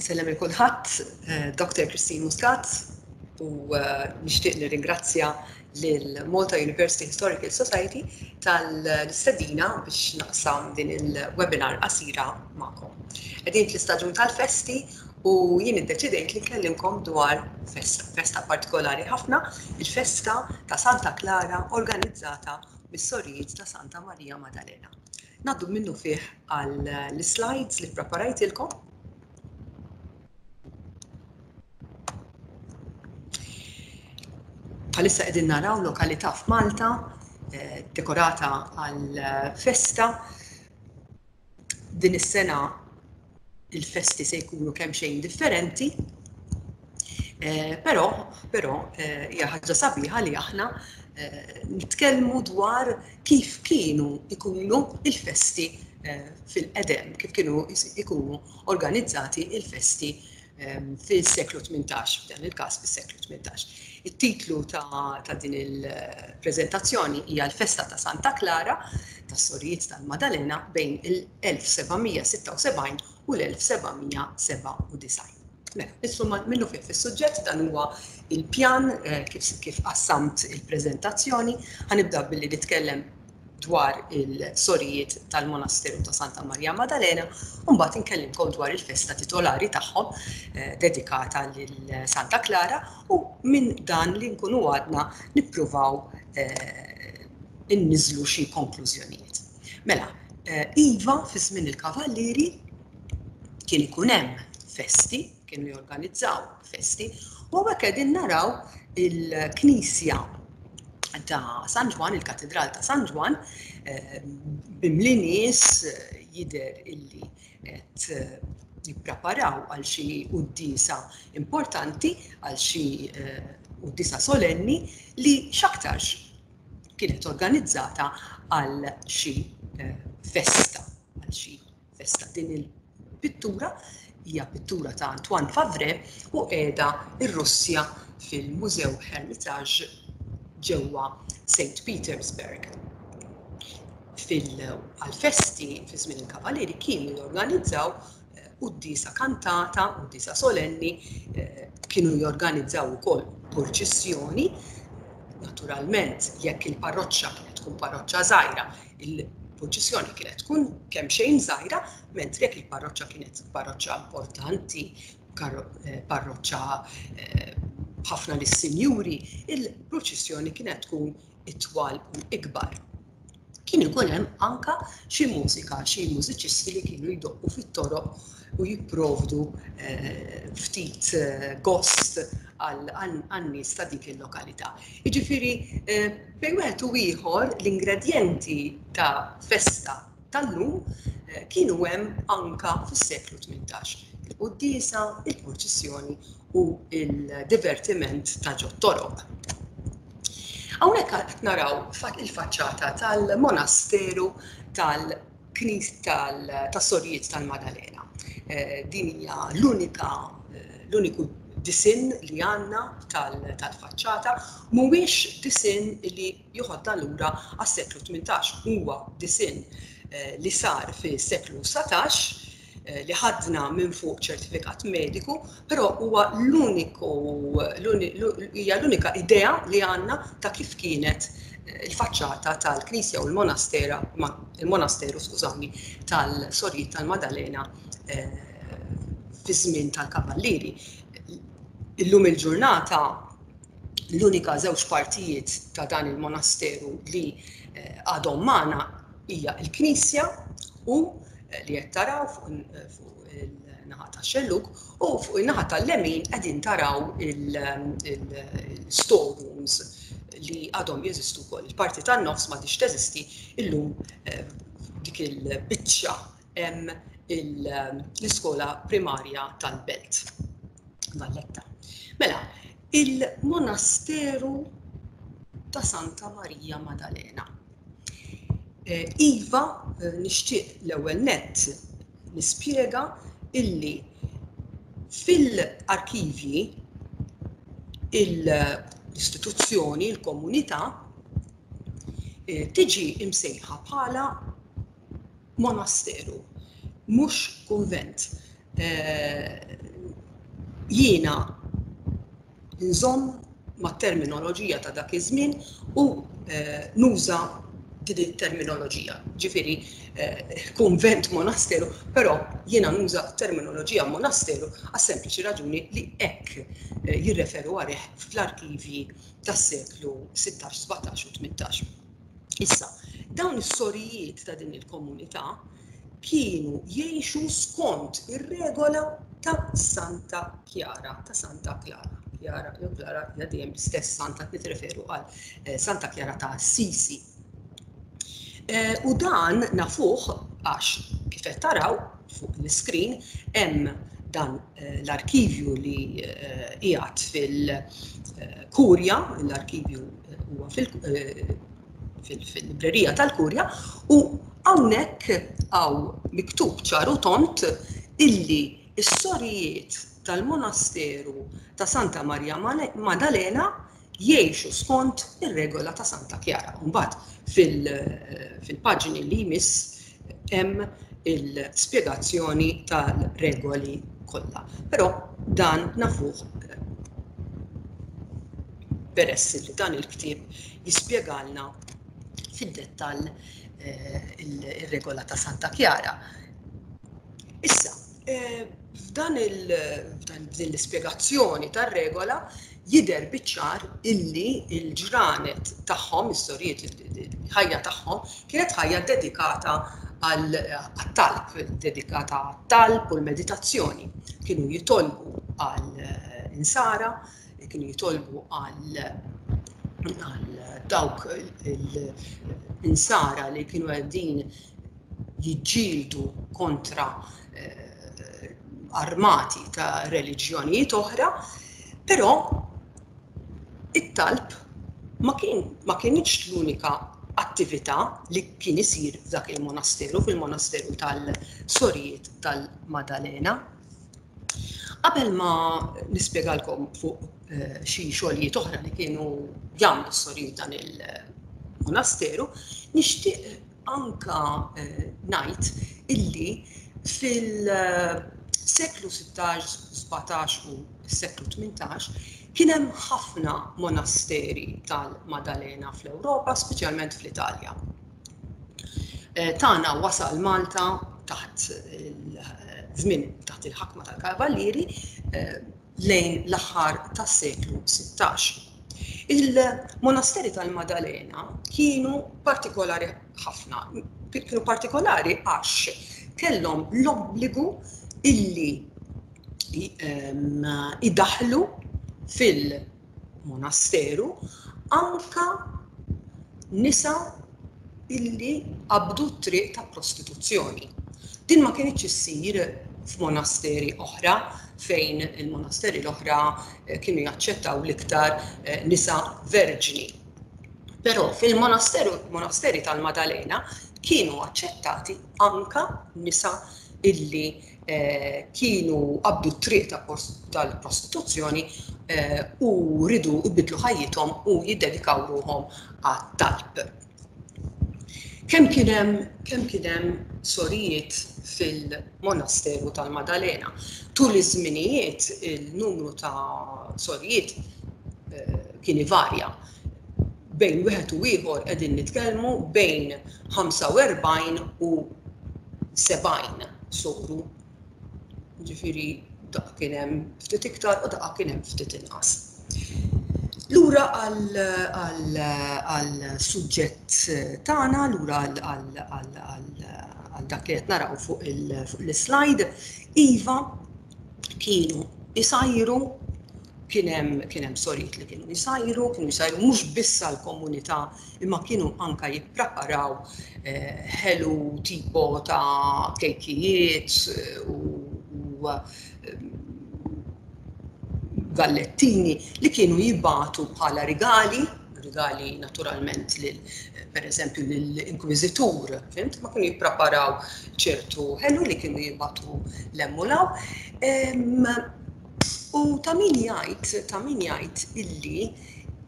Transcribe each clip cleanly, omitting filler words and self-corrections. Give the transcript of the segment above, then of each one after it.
Insellem il kulħadd, eh, Dr. Christine Muscat, u eh, nixtieq nirringrazzja lil Malta University Historical Society tal-istedina biex naqsam din il-webinar qasira magħkom. Qegħdin fl-istaġun tal-festi u jien iddeċidejt li nkellimkom dwar festa, festa partikolari ħafna, il-festa ta' Santa Klara organizzata mis-sorijiet ta' Santa Maria Madalena. Ngħaddu minnufih għall-slides li ppreparajtilkom. Bħalissa qegħdin naraw lokalità f'Malta eh, dekorata għal festa. Din is-sena il-festi se jkunu kemm xejn differenti, eh, però però eh, hija ħaġa sabiħa li aħna eh, nitkellmu dwar kif kienu ikunu il-festi fil-qedem, kif kienu ikunu organizzati il-festi fil-seklu 18, f'dan il-każ fis-seklu 18. It-titlu ta', ta din il-preżentazzjoni hija l-festa ta' Santa Klara tas-Sorijiet tal-Madalena bejn il-1776 u l-1797. Mela, insomma, minnu fih fis-suġġett dan huwa il-pjan eh, kif, kif qassamt il-preżentazzjoni. Ħanibda billi nitkellem dwar il-sorijiet tal-Monasteru ta' Santa Maria Madalena u mbagħad inkellimkom dwar il-festa titolari tagħhom eh, dedikata lil Santa Klara u minn dan li nkunu għadna nippruvaw eh, inniżlu xi konklużjonijiet. Mela, eh, iva fi żmien il-kavallieri kien ikun hemm festi, kienu jorganizzaw festi, u hawnhekk qegħdin naraw il-knisja ta' San Ġwann, il-Katedral ta' San Ġwann, eh, bimli nies eh, jidher illi qed eh, jippreparaw għal xi quddiesa importanti, għal xi quddiesa solenni li x'aktarx kienet organizzata għal xi festa, għal xi festa. Din il-pittura hija pittura ta' Antoine Favre u qiegħda r-Russja fil-Mużew Hermitage ġewwa St. Petersburg. Fil-festi fi żmien il-Kavalieri kienu jorganizzaw eh, quddiesa kantata, quddiesa solenni, eh, kienu jorganizzaw ukoll purċissjoni. Naturalment, jekk il-parroċċa kienet tkun parroċċa żgħira, Il-purċissjoni kienet tkun kemxejn żgħira, mentri jekk il-parroċċa kienet parroċċa importanti, eh, parroċċa eh, b'ħafna lis-sinjuri, il-purċissjoni kienet tkun itwal u ikbar. Kien ikun hemm anka xi mużika, xi mużiċisti li kienu jdoqqu fit-toroq u jipprovdu eh, ftit gost għan-nies ta' dik il-lokalità. Jiġifieri Bejn wieħed u ieħor l-ingredjenti ta' festa tal-lum eh, kienu hemm anka fis-seklu 18. Il-quddiesa, il-purċissjoni u il-divertiment ta' ġot-toroq. Hawnhekk qed naraw il-faċċata tal-monasteru tal knis tas-Sorijiet tal-Madalena. Eh, din hija l-unika eh, l-uniku disinn li għandna tal-faċċata mhuwiex disinn li joħodna lura għas-seklu 18, huwa disinn eh, li sar fis-seklu 19 li ħadna minn fuq ċertifikat mediku, però huwa l-uniku hija l-unika idea li għandna ta' kif kienet eh, il-faċċata tal-knisja u l-monastera, il-monasteru, skużawni, tal-Sorijiet tal-Madalena eh, fi żmien tal-Kavallieri. Illum il-ġurnata l-unika żewġ partijiet ta' dan il-monasteru li eh, għadhom magħna hija l-knisja u li qed taraw fuq il-naħa tax-xellug u fuq in-naħa tal-lemin qegħdin taraw il-storerooms li għadhom jeżistu wkoll. Il-parti tan-nofs m'għadhiex teżisti illum eh, dik il-biċċa hemm l-iskola primarja tal-Belt Valletta. Mela, il-monasteru ta' Santa Marija Madalena. Eh, iva, eh, nixtieq l-ewwel nett nispjega illi fil-arkivji l-istituzzjoni, il-komunità, eh, tiġi imsejħa bħala monasteru, mhux kunvent. Jiena nżomm mat-terminoloġija ta' dak iż-żmien u nuża din it-terminoloġija. Ġifieri kunvent monasteru, però jiena nuża terminoloġija monasteru għas-sempliċi raġuni li hekk jirreferu għalih fl-arkivji tas-seklu 16, 17 u 18. Issa, dawn is-sorijiet ta' din il-komunità kienu jgħixu skont ir-regola ta' Santa Chiara, ta' Santa Clara. Chiara jew Clara hija dejjem l-istess santa qed nitreferu għal eh, Santa Chiara ta' Assisi. Eh, u dan nafuh għax kif qed taraw fuq l-iskrin hemm dan eh, l-arkivju li qiegħed fil-Kurja, l-arkivju huwa fil fil-librerija tal-Kurja u hawnhekk hawn miktub ċar u tond illi s-sorijiet tal-monasteru ta' Santa Marja Madalena jgħixu skont ir-regola ta' Santa Kjara. Mbagħad fil-paġni li jmiss hemm il-spjegazzjoni tal-regoli kollha. Però dan nafuh peress li dan il-ktieb jispjegalna fid-dettall eh, il-regola ta' Santa Chiara. Issa, eh, f'dan din l-ispjegazzjoni tar-regola jidher biċ-ċar illi l-ġranet tagħhom, is-sorijiet, il-ħajja tagħhom kienet ħajja dedikata għat-talb, dedikata għat-talb u l-meditazzjoni. Kienu jitolbu għal insara, kienu jitolbu għal dawk l-insara li kienu għeddin jiġġieldu kontra eh, armati ta' reliġjonijiet oħra, però it-talb ma kien ma kienx l-unika attività li kien isir f'dak il-monasteru, fil-monasteru tal-Sorijiet tal-Madalena. Qabel ma nispjegalkom fuq eh, xi xogħlijiet oħra li kienu jagħmlu s-sorijiet dan il-monasteru, nixtieq anka eh, ngħid illi fil-seklu 16, 17 u s-seklu 18 kien hemm ħafna monasteri tal-Madalena fl-Ewropa, speċjalment fl-Italja. Eh, tagħna wasal Malta taħt żmien taħt il-ħakma tal-Kavallieri eh, lejn l-aħħar tas-seklu 16. Il-monasteri tal-Madalena kienu partikolari ħafna, kienu partikolari għax kellhom l-obbligu illi ehm, idaħlu fil- monasteru anka nisa illi qabdu t-triq ta' prostituzzjoni. Din ma kinitx issir f'monasteri oħra fejn il-monasteri l-oħra eh, kienu jaċċettaw l-iktar eh, nisa verġni. Però fil-monasteru monasteri tal-Madalena kienu aċċettati anka nisa illi kienu qabdu t-triq tal-prostituzzjoni u ridu jbiddlu ħajjithom u jiddedikaw ruħhom għat-talb. Kemm kien hemm kemm kien hemm sorijiet fil-monasteru tal-Madalena. Tul iż-żminijiet il-numru ta' sorijiet kien ivarja. Bejn wieħed u ieħor qegħdin nitkellmu bejn 45 u 70 soru. Ġifieri daqqa kien hemm ftit iktar u daqqa kien hemm ftit inqas. Lura għal suġġett tagħna, lura għal dak li qed naraw fuq l-slide, iva kienu isajru kien hemm kien hemm sorijiet li kienu jsajru, kienu jsajru mhux biss għall-komunità imma kienu anka jippreparaw eh, ħelu tipo ta' kejkijiet eh, u, u eh, gallettini li kienu jibatu bħala rigali rigali naturalment lil per eżempju lill-inkwiżitur, fimt? Ma kienu jippreparaw ċertu ħelu li kienu jibatu l-emmulaw. U ta' min jgħid, ta' min jgħid illi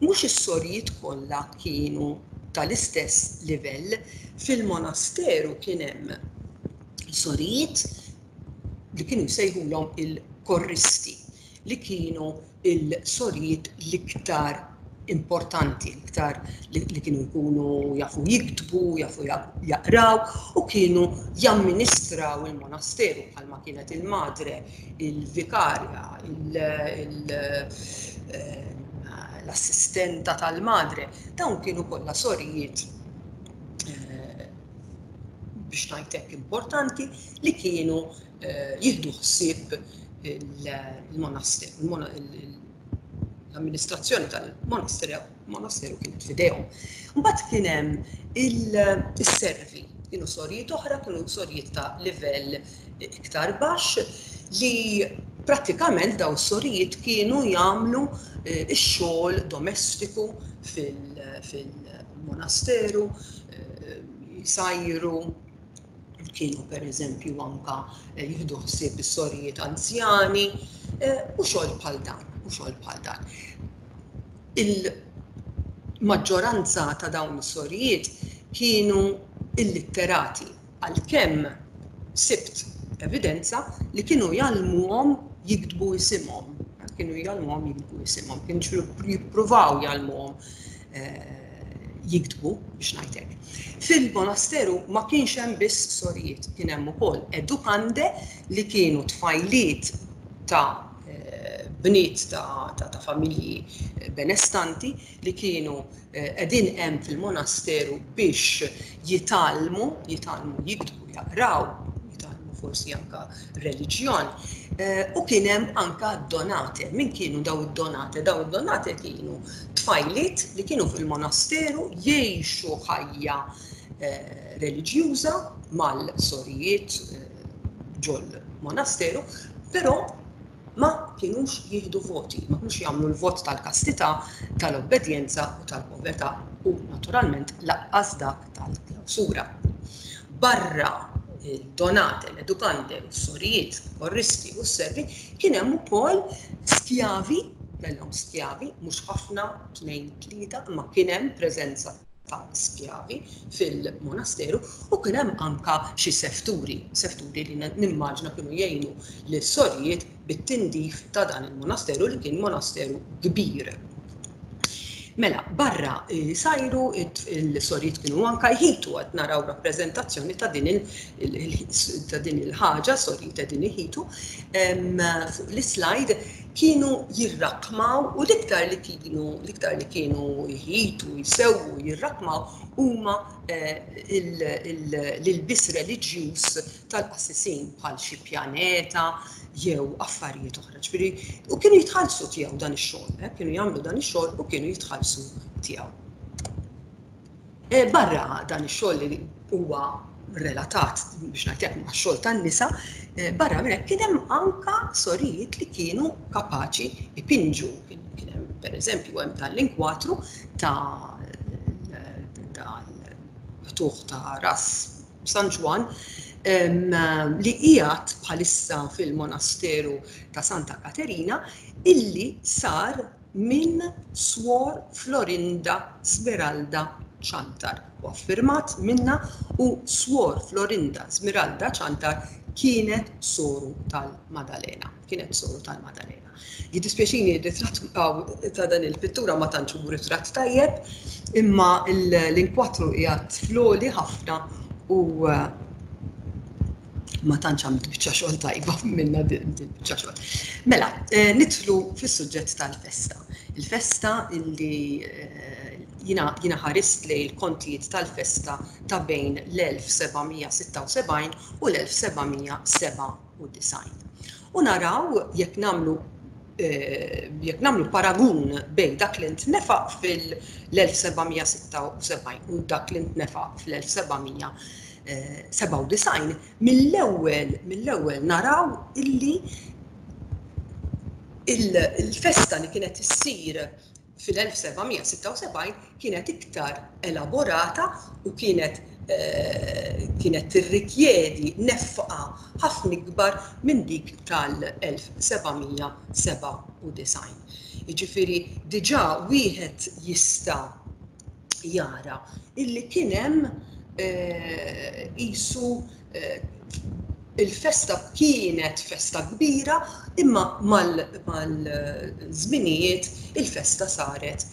mhux is-sorijiet kollha kienu tal-istess livell. Fil-monasteru kien hemm sorijiet. li kienu jsejħulhom il-korristi li kienu il-sorijiet l-iktar importanti, l-iktar li kienu jkunu jafu jiktbu, jafu jaqraw u kienu jamministraw il-monasteru bħalma kienet il-madre, il-vikarja, eh, l-assistenta tal-madre. Dawn kienu kollha sorijiet eh, biex ngħid hekk importanti li kienu eh, jieħdu ħsieb il-monasteru, l-amministrazzjoni tal-monasteru kienet fidejhom. Mbagħad kien hemm il-servi, kienu sorijiet oħra, kienu sorijiet ta' livell iktar baxx li prattikament daw sorijiet kienu jagħmlu eh, x-xogħol domestiku fil-monasteru, eh, jsajru, kienu pereżempju anka eh, jieħdu ħsieb is-sorijiet anzjani eh, u xogħol bħal dan, u xogħol bħal dan. Il-maġġoranza ta' dawn is-sorijiet kienu illitterati għalkemm sibt evidenza li kienu jgħallmuhom jiktbu isimhom, kienu jgħallmuhom jiktbu isimhom, kienu jippruvaw jgħallmuhom eh, jiktbu biex ngħid hekk. Fil-monasteru ma kienx hemm biss sorijiet, kien hemm ukoll edukande li kienu tfajliet ta' eh, bniet ta', ta, ta familji eh, benestanti li kienu eh, qegħdin hemm fil-monasteru biex jitgħallmu, jitgħallmu jiktbu, jaqraw, jitgħallmu forsi anka reliġjon. Eh, u kien hemm anka donate. Min kienu daw id-donate? Daw id-donate kienu tfajliet li kienu fil-monasteru jgħixu ħajja eh, reliġjuża mal-sorijiet eh, ġol monasteru, però ma kienux jieħdu voti, ma kienux jagħmlu l-vot tal-kastità, tal-obbedjenza u tal-povertà u naturalment laqqas dak tal-klawsura. Barra il-donate, l-edukande, s-sorijiet, korristi u s-servi, kien hemm ukoll skjavi, kellhom skjavi, mhux ħafna, tnejn, tlieta, imma kien hemm preżenza ta' skjavi fil-monasteru u kien hemm anka xi sefturi, sefturi li nimmaġna kienu jgħinu lis-sorijiet bit-tindif ta' dan il-monasteru li kien monasteru kbir. Mela, barra eh, sajru il-sorijiet kienu anka jħitu għad naraw rappreżentazzjoni ta' din il-ħaġa, sorijiet qegħdin iħitu, fuq l-slide kienu jirrakmaw u l-iktar li kienu l-iktar li kienu jħitu, jsewwu, jirrakmaw huma eh, l-ilbis reliġjuż tal-qassisin bħal xi pjaneta jew affarijiet oħra. Ġifieri, u kienu jitħallsu tiegħu dan ix-xogħol, eh, kienu jagħmlu dan ix-xogħol u kienu jitħallsu tiegħu. Eh, barra dan ix-xogħol li huwa relatat biex ngħid ma' xogħol tan-nisa, eh, barra minn hekk kien hemm anka sorijiet li kienu kapaċi ipinġu. Kien hemm pereżempju hemm tal-inkwatru ta' tal-tuħ ta' ras San Ġwann li qiegħed bħalissa fil-monasteru ta' Santa Katerina illi sar minn Swor Florinda Smeralda Ciantar u affirmat minna u Swor Florinda Smeralda Ciantar kienet soru tal-Madalena. Kienet soru tal-Madalena. Jiddispjaċini r-ritratt ta' dan il-pittura ma tantx hu ritratt tajjeb, imma l-inkwatru qiegħed floli ħafna u eh, ma tantx għamilt biċċa xogħol tajba minna din biċċa xogħol. Mela, eh, nidħlu fis-suġġett tal-festa. Il-festa illi eh, jina, jina ħarist li l-kontijiet tal-festa ta' bejn l-1776 u l-1797. u design. U naraw jekk nagħmlu eh, jekk nagħmlu paragun bejn dak li ntnefaq fil-1776 u dak li ntnefaq fl-1797, mill-ewwel mill-ewwel naraw illi il-festa li kienet issir fil-1776 kienet iktar elaborata u kienet kienet tirrikjedi nefqa ħafna ikbar minn dik tal-1797. Jiġifieri diġà wieħed jista' jara illi kien hemm qisu Il-festa kienet festa kbira imma mal-żminijiet il-festa saret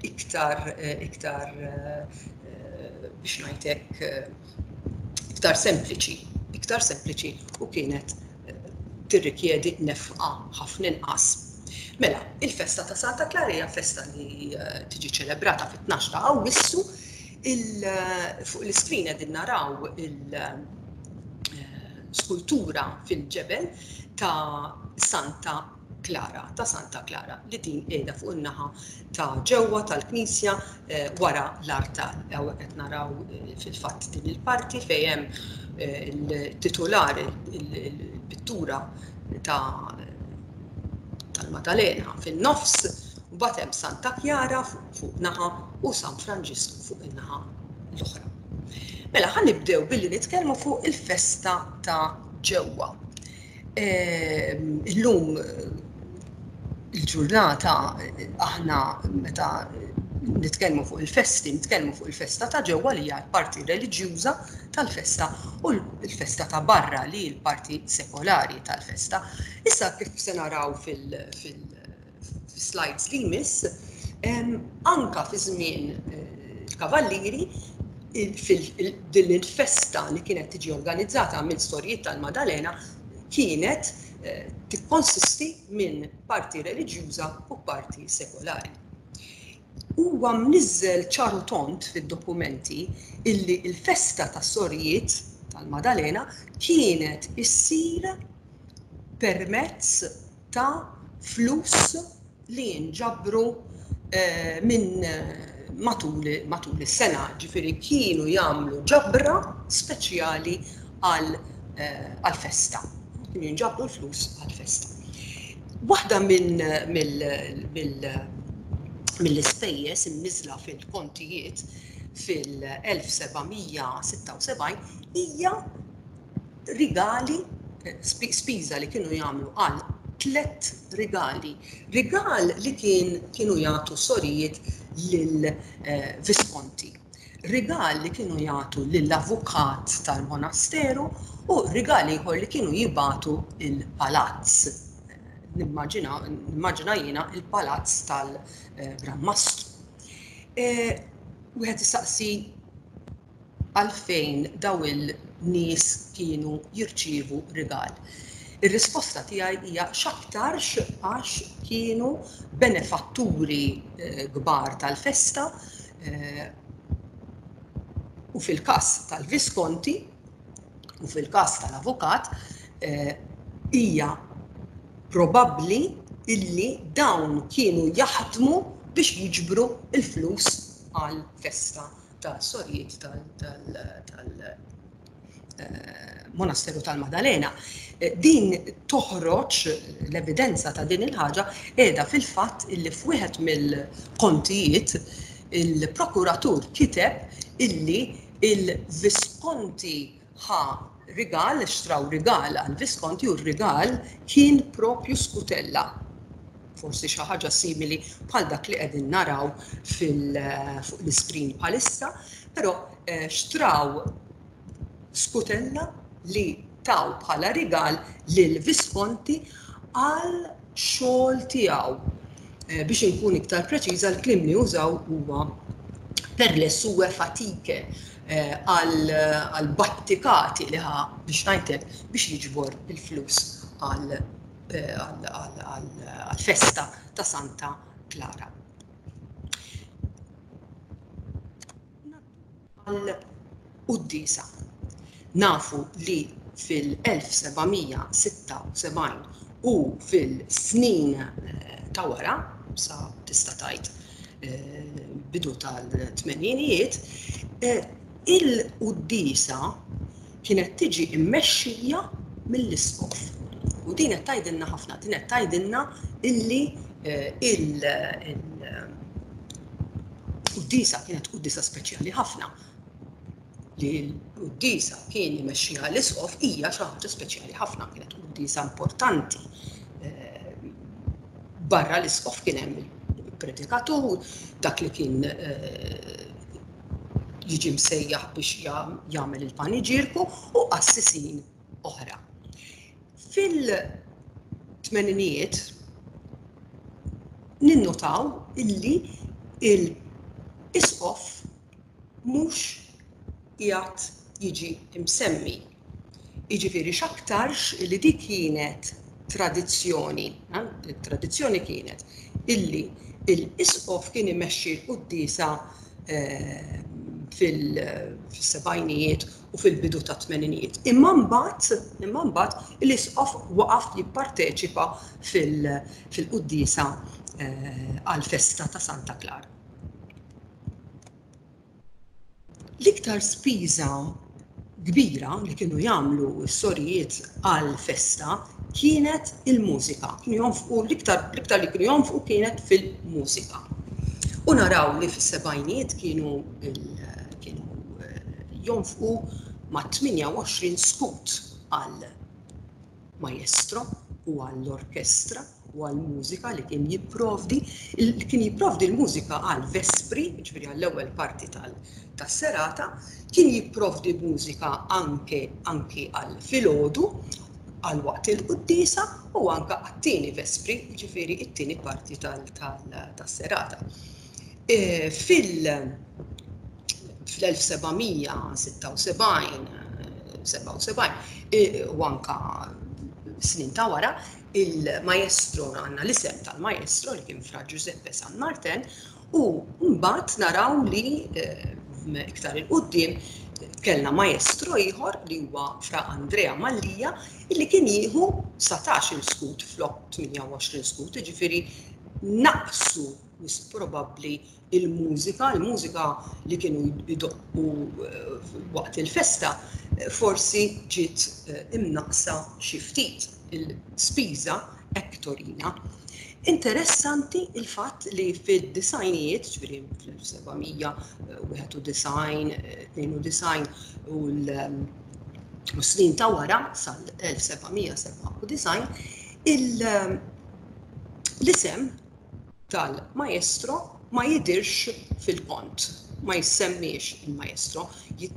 iktar iktar biex ngħid hekk iktar sempliċi, iktar sempliċi u kienet tirrikjedi nefqa ħafna inqas. Mela, il-festa ta' Santa Klara hija festa li tiġi ċelebrata fit-12 ta' Awwissu. Fuq l-iskrin qegħdin naraw il-skultura fil-ġebel ta' Santa Klara, ta' Santa Klara, li din qiegħda fuq in-naħa ta' ġewwa tal-knisja wara l-artal. Hawnhekk qed naraw fil-fatt din il-parti fejn hemm il-titular, il-pittura ta' tal-Madalena fin-nofs, mbagħad hemm Santa Kjara fuq naħa u San Franġisku fuq in-naħa l-oħra. Mela ħa nibdew billi nitkellmu fuq il-festa ta' ġewwa. Illum il-ġurnata aħna meta nitkellmu fuq il-festi, nitkellmu fuq il-festa ta' ġewwa li hija l-parti reliġjuża tal-festa u l-festa ta' barra li hi l-parti sekolari tal-festa. Issa kif se naraw fil-slides li jmiss, anka fi żmien il-Kavallieri din il-festa li kienet tiġi organizzata minn sorijiet tal-Madalena kienet tikkonsisti minn parti reliġjuża u parti sekolari. Huwa mniżżel ċar u tond fid-dokumenti illi l-festa tas-sorijiet tal-Madalena kienet issir permezz ta' flus li jinġabru minn matul matul is-sena, ġifieri kienu jagħmlu ġabra speċjali għall-festa. Kienu jinġabru l-flus għall-festa. Waħda minn mill-ispejjeż imniżżla fil-kontijiet fil-1776 hija rigali, spiża li kienu jagħmlu għal tlett rigali. Rigal li kien kienu jagħtu sorijiet lil Visconti. Rigal li kienu jagħtu lill-avukat tal-monasteru u rigal ieħor li kienu jibagħtu il-palazz. Nimmaġina nimmaġina jiena il-palazz tal-Gran Mastru. Wieħed isaqsi għalfejn dawn il-nies kienu jirċievu rigal. Ir-risposta tiegħi hija x'aktarx għax kienu benefatturi kbar tal-festa u fil-każ tal-Visconti u fil-każ tal-avukat hija probabbli illi dawn kienu jaħdmu biex jiġbru l-flus għall-festa ta' sorijiet tal-Monasteru tal-Madalena. Din toħroġ l-evidenza ta' din il-ħaġa qiegħda fil-fatt illi f'wieħed mill-kontijiet il-prokuratur kiteb illi il-Visconti ħa rigal, xtraw rigal għal Visconti u r-rigal kien propju skutella. Forsi xi ħaġa simili bħal dak li qegħdin naraw fuq l-iskrin bħalissa, però xtraw skutella li taw bħala rigal lil Visconti għal xogħol tiegħu. Biex inkun iktar preċiża, l-kliem li użaw huwa per le sue fatiche, għal battikati li ħa biex ngħidlek biex jiġbor il-flus għal għall-festa ta' Santa Klara. Għall-quddiesa. Nafu li fil-1776 u fil-snin ta' wara, sa tista' tgħid bidu tal-tmeninijiet, il-quddiesa kienet tiġi mmexxija mill-isqof. U din qed tgħidilna ħafna, din qed tgħidilna illi il-quddiesa kienet quddiesa speċjali ħafna. Li l-quddiesa kien imexxiha l-isqof hija xi ħaġa speċjali ħafna, kienet quddiesa importanti. Barra l-isqof kien hemm il-predikatur, dak li kien jiġi msejjaħ biex jagħmel il-paniġierku u qassisin. oħra. Fil-tmeninijiet ninnotaw illi l-isqof mhux qiegħed jiġi msemmi. Jiġifieri x'aktarx illi dik kienet tradizzjoni, it-tradizzjoni kienet illi l-isqof kien imexxi l-quddiesa fil-sebgħinijiet u fil-bidu tat-tmeninijiet. Imma mbagħad, imma mbagħad l-isqof waqaf jipparteċipa fil-quddiesa għall-festa ta' Santa Klara. L-iktar spiża kbira li kienu jagħmlu s-sorijiet għall-festa kienet il-mużika. Kienu jonfqu l-iktar l-iktar li kienu jonfqu kienet fil-mużika. U naraw li fis-sebgħinijiet kienu kienu eh, jonfqu ma' 28 skut għal maestro u għall-orkestra u għall-mużika li kien jipprovdi, kien jipprovdi l-mużika għal vespri, ġifieri għall-ewwel parti tas-serata, kien jipprovdi mużika anke anki għal filgħodu għal waqt il-quddiesa u anke għat-tieni vespri, ġifieri it-tieni parti tas-serata. E, fil fl-1776 77 e, u anka snin ta' wara, il-maestro għandna l-isem tal-maestro li kien Fra Giuseppe San Martin u mbagħad naraw li eh, iktar il-qudiem kellna maestro ieħor li huwa Fra Andrea Mallia illi kien jieħu 19 il-skut flok 28 skut, jiġifieri naqsu wisq probabbli il-mużika, il-mużika li kienu jdoqqu eh, waqt il-festa, eh, forsi ġiet eh, imnaqsa xi ftit il-spiża hekk torina. Interessanti il-fatt li fid-disajnijiet, ġifieri fl-1791, 92 u l-snin ta' wara sal-1797, l-isem tal-maestro ma jidhirx fil-kont, ma jissemmiex il-maestro,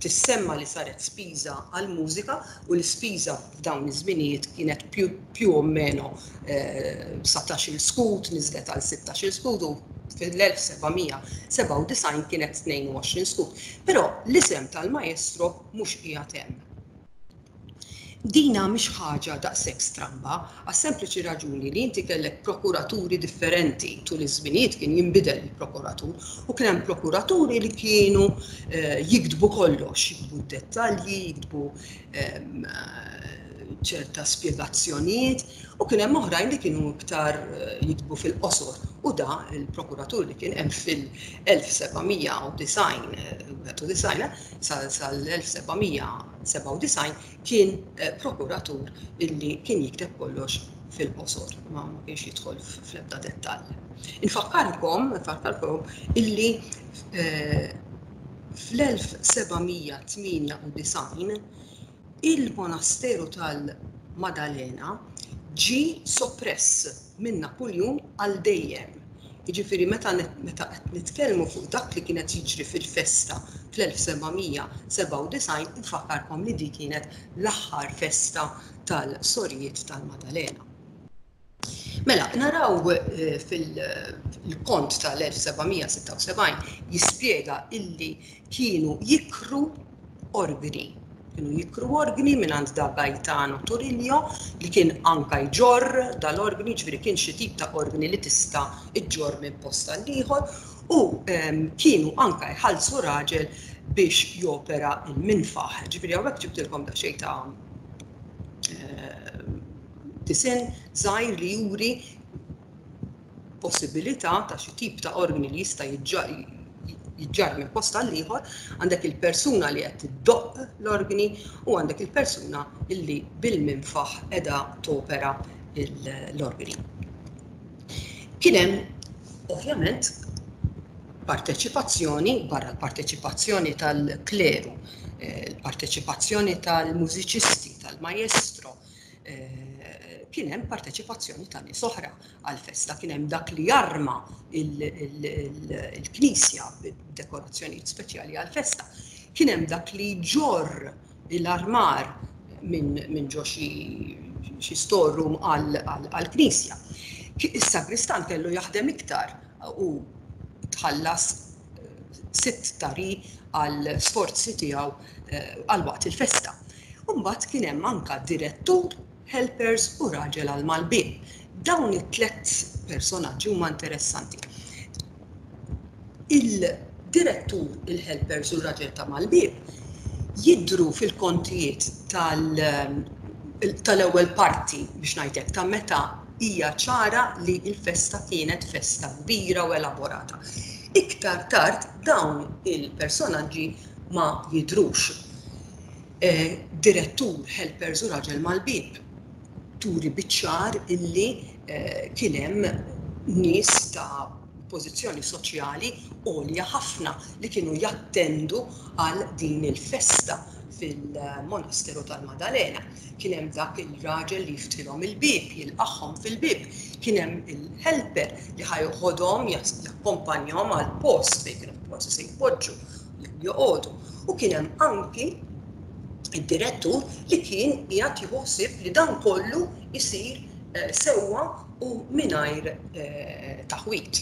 tissemma li saret spiża għall-mużika u l-ispiża f'dawn iż-żminijiet kienet più o meno 19-il skud, niżlet għal 16-il skud u fil-1797 kienet 22 skud. Però l-isem tal-maestro mhux qiegħed hemm. Dina mhix ħaġa daqshekk stramba, għas-sempliċi raġuni li inti kellek prokuraturi differenti tul iż-żminijiet kien jinbidel il-prokuratur u kien hemm prokuraturi li kienu eh, jiktbu kollox, jiktbu d-dettalji, jiktbu ehm, ċerta spjegazzjonijiet u kien hemm oħrajn li kienu iktar eh, jiktbu fil-qosor u da il-prokuratur li kien hemm fil-1790 eh, sal-1700 97 kien prokuratur illi kien jikteb kollox fil-qosor, ma kienx jidħol fl-ebda dettall. Infakkarkom, infakkarkom illi fl-1798 il-monasteru tal-Madalena ġie soppress minn Napuljun għal dejjem. Jiġifieri meta meta qed nitkellmu fuq dak li kien qed jiġri fil-festa fl-1797 infakkarkom li dik kienet l-aħħar festa tal-Sorijiet tal-Madalena. Mela, naraw eh, fil-kont tal-1776 jispjega illi kienu jikru organi. Kienu jikru organi mingħand da Gaetano Turillo li kien anka jġorr dal-organi, ġifieri kien xi tip ta' organi li tista' ġġorr minn post għal ieħor u ehm, kienu anka jħallsu raġel biex jopera il-minfaħ. Ġifieri hawnhekk ġibtilkom daqsxejn ta' ehm, disinn żgħir li juri possibilità ta' xi tip ta' organi li jista' jiġġarr minn post għal ieħor, għandek il-persuna li qed tiddoqq l-organi u għandek il-persuna li bil-minfaħ qiegħda topera l-organi. Kien hemm ovvjament parteċipazzjoni barra l-parteċipazzjoni tal-kleru, eh, l-parteċipazzjoni tal-mużiċisti, tal-maestro, kien hemm parteċipazzjoni ta' nies oħra għall-festa, kien hemm dak li jarma il-knisja b'dekorazzjonijiet speċjali għall-festa, kien hemm dak li jġorr l-armar minn ġo xi storeroom għall-knisja. Is-sagristan kellu jaħdem iktar u tħallas sitt tari għal sforzi tiegħu għal waqt il-festa. Imbagħad kien hemm anka direttur, helpers u raġel għal mal-bieb. Dawn it-tlet personaġġi huma interessanti. Il-direttur, il-helpers u r-raġel ta' mal-bieb jidhru fil-kontijiet tal-ewwel parti biex ngħidlek ta' meta hija ċara li l-festa kienet festa kbira u elaborata. Iktar tard dawn il-personaġġi ma jidhrux. Direttur, helpers u raġel mal-bieb turi biċ-ċar illi kien hemm nies ta' pożizzjoni soċjali għolja ħafna li kienu jattendu għal din il-festa fil-monasteru tal-Madalena. Kien hemm dak il-raġel li jiftilhom il-bieb, jilqagħhom fil-bieb, kien hemm il-helper li ħa joħodhom, jakkompanjahom għall-post fejn kienu forsi se jpoġġu jew joqogħdu. U kien hemm anki id-direttur li kien qiegħed jieħu ħsieb li dan kollu jsir sewwa u mingħajr taħwid.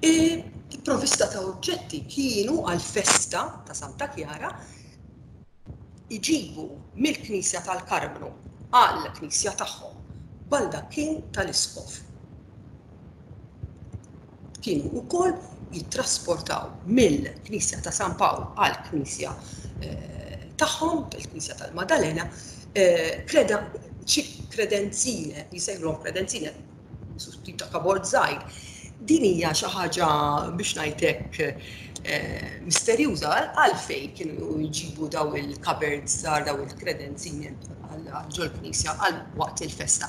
Il-provvista ta' oġġetti kienu għall-festa ta' Santa Kjara iġibu mill-Knisja tal-Karmnu għall-knisja tagħhom baldakkin tal-Isqof. Kienu wkoll jittrasportaw mill-Knisja ta' San Pawl għall-knisja tagħhom, il-Knisja tal-Madalena, kreda xi kredenzine, jisejħulhom kredenzine, tip ta' kabord żgħir. Din hija xi ħaġa biex ngħid hekk misterjuża għalfejn kienu jġibu daw il-cupboards żgħar, daw il-kredenzini għal ġol-knisja għal waqt il-festa.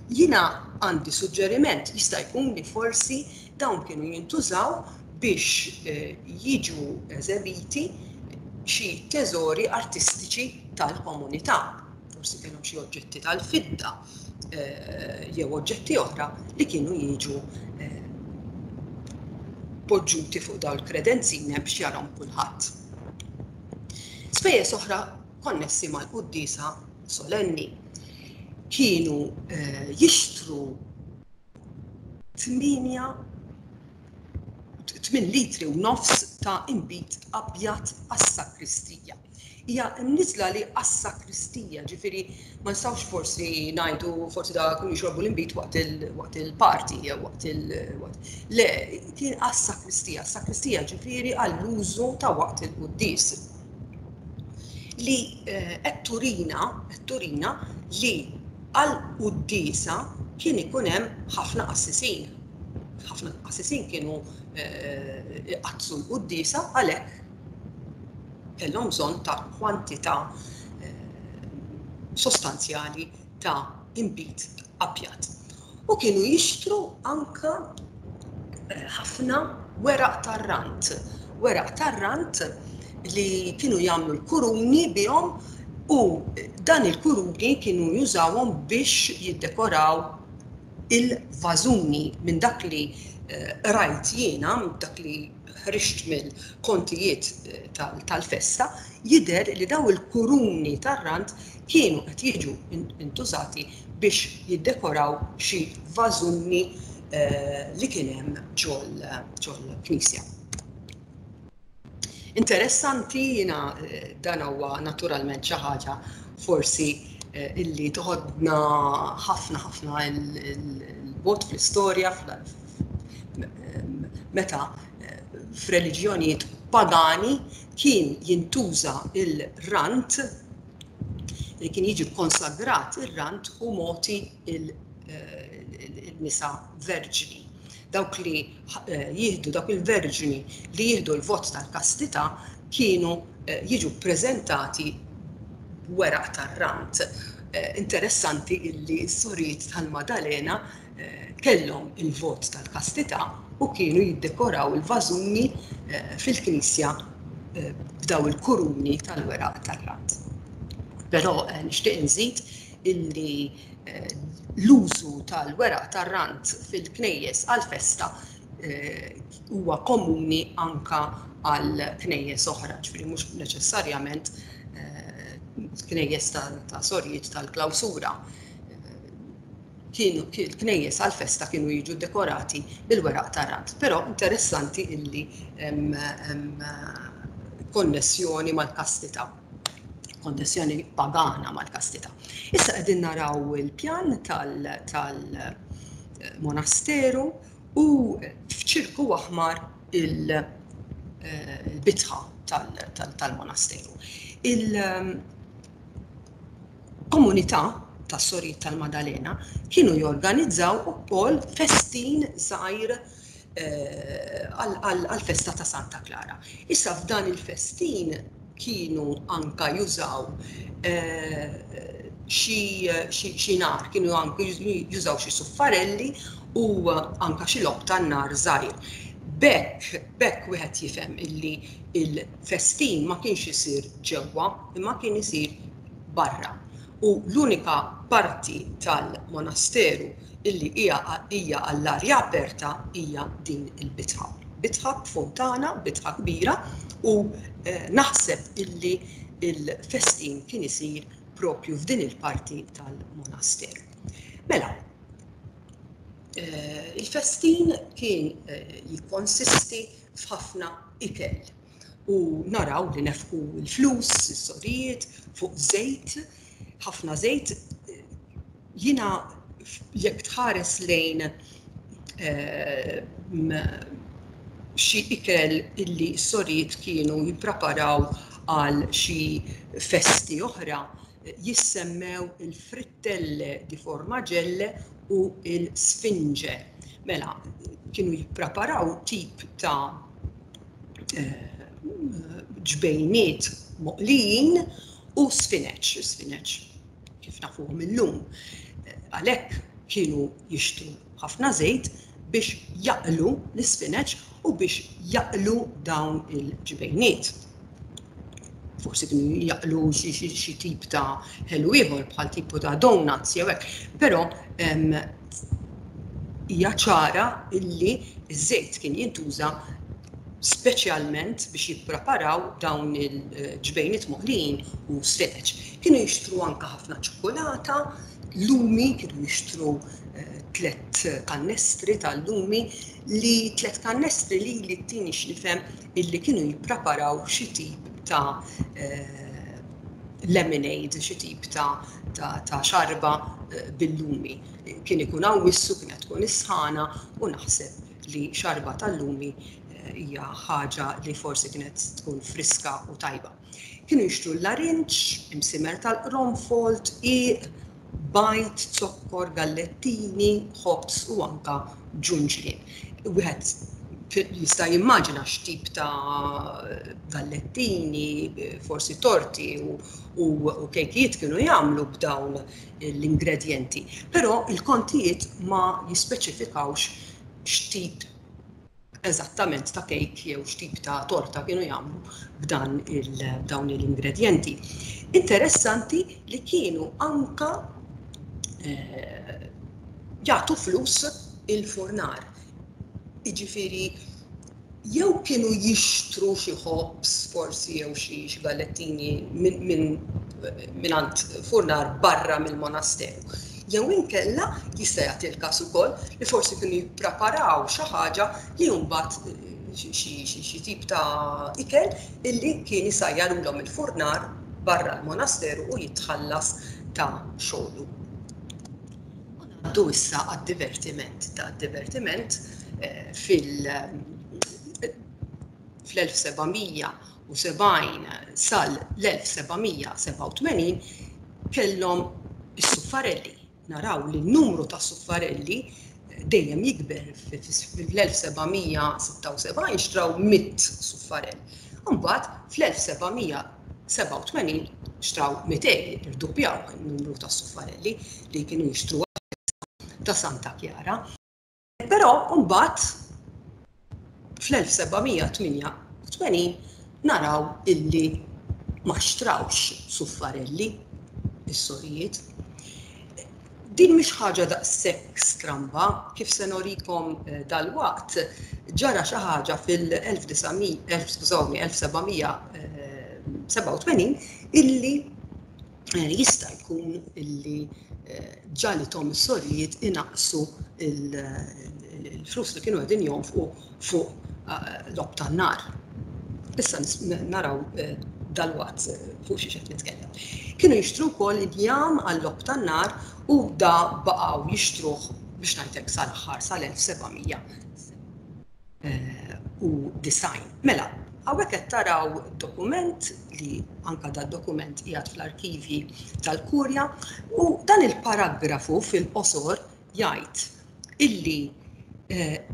Jiena għandi suġġeriment, jista' jkun li forsi dawn kienu jintużaw biex jiġu eżebiti xi teżori artistiċi tal-komunità. Forsi kellhom xi oġġetti tal-fidda jew oġġetti oħra li kienu jiġu poġġuti fuq dawn il-kredenzine biex jarahom kulħadd. Spejjeż oħra konnessi mal-quddiesa solenni kienu jixtru 8 8 litri u nofs ta' inbid abjad għas-sakristija. Hija mniżla li għas-sakristija, ġifieri ma nistgħux forsi ngħidu forsi da kienu jixorbu l-inbid waqt il-party jew waqt il Le, kien għas-sakristija, sakristija ġifieri għall-użu ta' waqt il-quddies. Li qed turina, qed turina li għall-quddiesa kien ikun hemm ħafna qassisin. Ħafna qassisin kienu iqaddsu l-quddiesa għalhekk kellhom bżonn ta' kwantità sostanzjali ta' inbid abjad. U kienu jixtru anka ħafna weraq tar-rant. Weraq tar-rant li kienu jagħmlu l-kuruni bihom u dan il-kuruni kienu jużawhom biex jiddekoraw il-vażuni minn dak li qrajt jiena, minn dak li ħriġt mill-kontijiet tal-festa, jidher li daw il-kuruni tar-rant kienu qed jiġu intużati biex jiddekoraw xi vażuni li kien hemm ġol-knisja. Interessanti jiena dan huwa naturalment xi ħaġa forsi illi toħodna ħafna ħafna il-bot fl-istorja meta f'reliġjonijiet pagani kien jintuża il-rant li kien jiġi konsagrat ir-rant u moti il-nisa verġni. Dawk li jieħdu dawk il-verġni li jieħdu l-vot tal-kastità kienu jiġu ppreżentati b'weraq tar-rant. Interessanti illi s-sorijiet tal-Madalena kellhom il-vot tal-kastità u kienu jiddekoraw il-vażuni fil-knisja b'daw il-kuruni tal-weraq tar-rant. Però nixtieq inżid illi l-użu tal-weraq tar-rant fil-knejjes għall-festa huwa komuni anka għal knejjes oħra, ġifieri mhux neċessarjament Knejjes ta' sorijiet tal-klawsura kienu knejjes għal-festa kienu jiġu dekorati bil-weraq tar-rand. Però interessanti illi hemm konnessjoni mal-kastità, konnessjoni pagana mal-kastità. Issa qegħdin naraw il-pjan tal-monasteru u f'ċirku aħmar il-bitħa tal-monasteru. Il-komunità tas-Sorijiet tal-Madalena kienu jorganizzaw ukoll festin żgħir għall-festa ta' Santa Klara. Issa f'dan il-festin kienu anka jużaw xi nar, kienu anka jużaw xi suffarelli u anka xi logħob tan-nar żgħir. B'hekk, b'hekk wieħed jifhem illi il-festin ma kienx isir ġewwa imma kien isir barra. U l-unika parti tal-monasteru illi hija hija għall-arja aperta hija din il-bitħa. Bitħa b'fontana, bitħa kbira u eh, naħseb illi il-festin kien isir propju f'din il-parti tal-monasteru. Mela, eh, il-festin kien eh, jikkonsisti f'ħafna ikel u naraw li nefqu l-flus, is-sorijiet, fuq żejt, ħafna żejt. Jiena jekk tħares lejn eh, xi ikel illi s-sorijiet kienu jippreparaw għal xi festi oħra, jissemmew il-frittelle di formagelle u il-sfinge. Mela, kienu jippreparaw tip ta' eh, ġbejniet moqlijin u sfineċ, sfineċ kif nafuhom illum. Għalhekk kienu jixtru ħafna żejt biex jaqlu l-isfineċ u biex jaqlu dawn il-ġbejniet. Forsi kienu jaqlu xi tip ta' ħelu ieħor bħal tipu ta' donuts jew hekk, però hija ċara illi ż-żejt kien jintuża speċjalment biex jippreparaw dawn il-ġbejniet moqlijin u sfeċ. Kienu jixtru anka ħafna ċokolata, lumi, kienu jixtru eh, tlet kannestri tal-lumi li tlet kannestri li li t-tini x'nifhem illi kienu jippreparaw xi tip ta' eh, lemonade, xi tip ta' ta' xarba eh, bil-lumi. Kien ikun hawn kienet tkun is-sħana u naħseb li xarba tal-lumi eh, hija ħaġa li forsi kienet tkun friska u tajba. Kienu jixtru l-larinġ, imsimer tal-qronfol, dqiq, bajd, zokkor, gallettini, ħobż u anka ġunġlien. Wieħed jista' jimmaġina x'tip ta' gallettini, forsi torti u, u, u kejkijiet kienu jagħmlu b'dawn l-ingredjenti. Però il-kontijiet ma jispeċifikawx x'tip eżattament ta' kejk jew x'tip ta' torta kienu jagħmlu b'dan il-dawn l-ingredjenti. Interessanti li kienu anka eh, jagħtu flus il-furnar. Jiġifieri jew kienu jixtru xi ħobż forsi jew xi gallettini mingħand furnar barra mill-monasteru. Jew inkella jista' jagħti l-każ ukoll li forsi kienu jippreparaw xi ħaġa li mbagħad xi tip ta' ikel illi kien isajjarulhom il-furnar barra l-monasteru u jitħallas ta' xogħlu. U ngħaddu issa għad-divertiment. Ta' divertiment eh, fil- fl-1770 sal-1787 kellhom is-suffarelli. Naraw li n-numru ta' suffarelli eh, dejjem jikber fl-1776 xtraw 100 suffarell. Mbagħad fl-1787 xtraw 200, irduppjaw in-numru ta' suffarelli li kienu jixtru ta' Santa Chiara. Però mbagħad fl-1788 naraw illi ma xtrawx suffarelli is-sorijiet. Din mhix ħaġa daqshekk stramba kif se norikom eh, dalwaqt ġara xi ħaġa fil-1900 skużawni 1787 illi. Jista' jkun illi ġalithom is-sorijiet inaqqsu l-flus li kienu qegħdin jonfqu fuq logħob tan-nar. Issa naraw dalwaqt fuq xiex qed nitkellem. Kienu jixtru wkoll injam għal-logħob tan-nar u da baqgħu jixtruh biex ngħidlek sal-aħħar sal-1700 u design. Mela, hawnhekk qed taraw dokument li anka da dokument qiegħed fl-arkivji tal-Kurja u dan il-paragrafu fil-qosor jgħid illi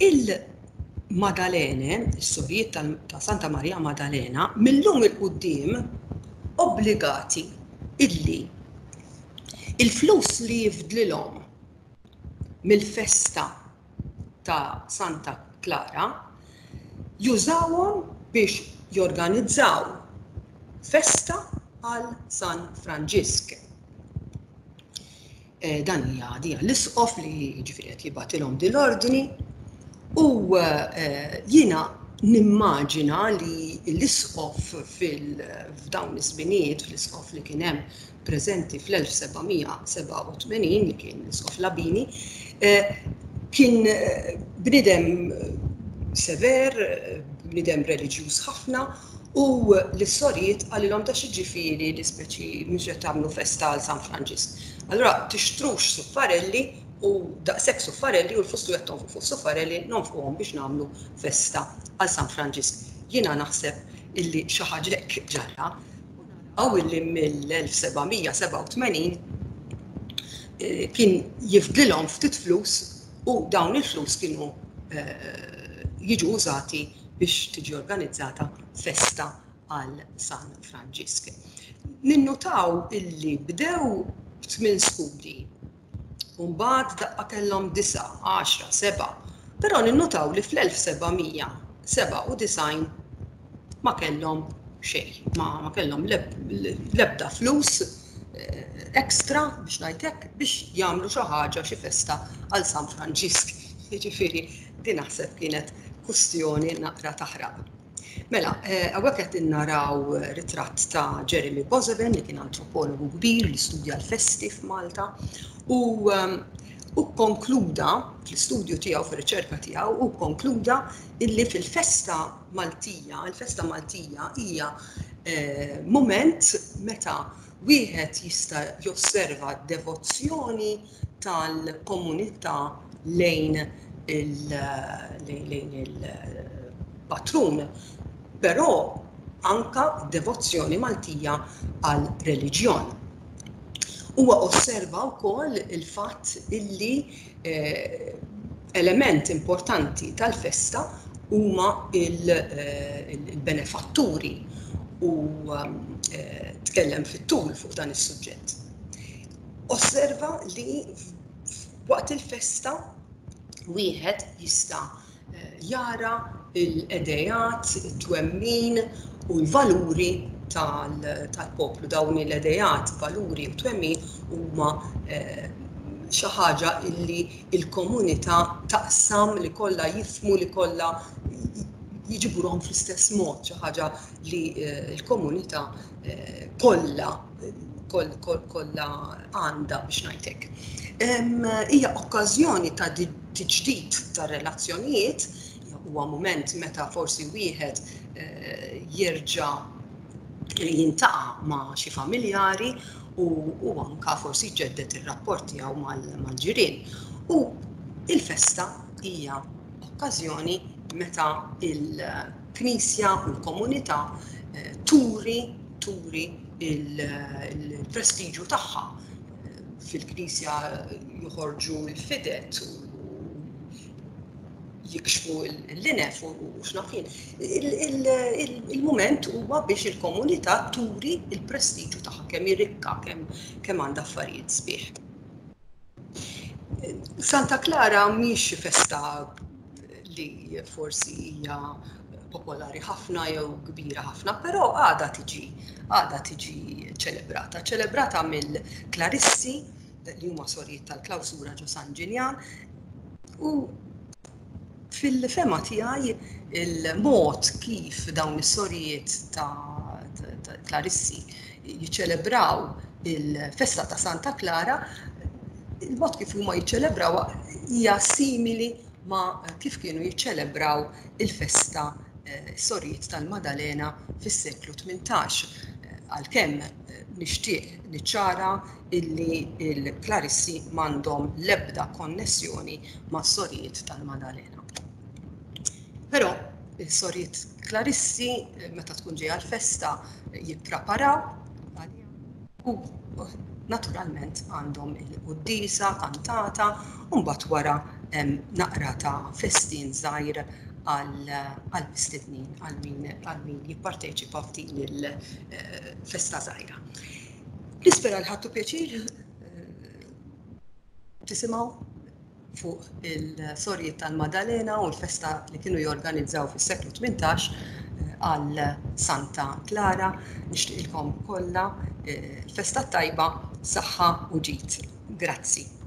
il-Madalene, is-sorijiet ta' Santa Maria Madalena, millum il-quddiem obbligati illi il-flus li jifdlilhom mill-festa ta' Santa Klara jużawhom biex jorganizzaw festa għal San Franġisk. Dan hija dija l-isqof li jiġifieri qed jibgħatilhom din l-ordni u jiena nimmaġina li l-isqof f'dawn iż-żminijiet, fl-isqof li kien hemm preżenti fl-1787 li kien l-Isqof Labini, kien bniedem sever, bniedem reliġjuż ħafna u lis-sorijiet qalilhom ta' x'jiġifieri li speċi mhux qed tagħmlu festa għal San Franġisk. Allura tixtrux suffarelli u daqshekk suffarelli u l-flus li qed tonfqu fuq suffarelli nonfquhom biex nagħmlu festa għal San Franġisk. Jiena naħseb illi xi ħaġa hekk ġara. Naraw illi mill-1787 kien jifdlilhom ftit flus u dawn il-flus kienu jiġu użati biex tiġi organizzata festa għal San Franġisk. Ninnutaw illi bdew b'tmien skudi U mbagħad daqqa kellhom disgħa, għaxra, sebgħa. Però ninnutaw li fl-1797 ma kellhom xejn, ma kellhom l-ebda flus extra biex ngħid hekk biex jagħmlu xi ħaġa, xi festa għal San Franġisk. Jiġifieri din naħseb kienet kwistjoni naqra taħraq. Mela, hawnhekk qed naraw ritratt ta' Jeremy Boissevain li kien antropologu kbir li studja l-festi f'Malta u u konkluda fl-istudju tiegħu fir-riċerka tiegħu u konkluda illi fil-festa Maltija, il-festa Maltija hija mument meta wieħed jista' josserva d-devozzjoni tal-komunità lejn il-patrun, però anka devozzjoni Maltija għal reliġjon. Huwa osserva wkoll il-fatt illi element importanti tal-festa huma il-benefatturi u tkellem fit-tul fuq dan is-suġġett. Osserva li waqt il-festa wieħed jista' jara l-edejat, it-twemmin u l-valuri tal-poplu. Dawn l-edejat, valuri u twemmin huma xi ħaġa illi l-komunità taqsam li kollha jifhmu li kollha jiġibuhom fl-istess mod, xi ħaġa li l-komunità kollha kollha għandha biex ngħid hekk. Hija okkażjoni ta' tiġdid ta' relazzjonijiet, huwa mument meta forsi wieħed jerġa' jintaqa' ma' xi familjari u anka forsi jġedded ir-rapport tiegħu mal-ġirien. U il-festa hija okkażjoni meta il-Knisja u l-komunità turi turi il-prestiġu tagħha. Fil-Knisja joħorġu l-fidet u jikxfu l-linef u x'naf jien. Il-mument huwa biex il-komunità turi il-prestiġu tagħha kemm hi rikka, kemm għandha affarijiet sbieħ. Santa Klara mhix xi festa li forsi hija popolari ħafna jew kbira ħafna, però għadha tiġi għadha tiġi ċelebrata. Ċelebrata mill-Klarissi li huma sorijiet tal-klawsura ġo San Ġiljan u fil-fema tiegħi il-mod kif dawn is-sorijiet ta' Klarissi jiċċelebraw Il-festa ta' Santa Klara, il-mod kif huma jiċċelebrawha hija simili ma' kif kienu jiċċelebraw il-festa eh, sorijiet tal-Madalena fis-seklu 18. Eh, għalkemm eh, nixtieq niċċara illi il-Klarissi m'għandhom l-ebda konnessjoni ma' sorijiet tal-Madalena. Però il-sorijiet Klarissi meta tkun ġejja l-festa jippreparaw u naturalment għandhom il-quddiesa kantata u mbagħad wara hemm naqra ta' festin żgħir għall-mistednin għal min għal min jipparteċipa f'din il-festa żgħira. Nispera li ħadtu pjaċir eh, tisimgħu fuq il-sorijiet tal-Madalena u l-festa li kienu jorganizzaw fis-seklu 18 eh, għal Santa Klara. Nixtieqilkom kollha eh, festa tajba, saħħa u ġid. Grazzi.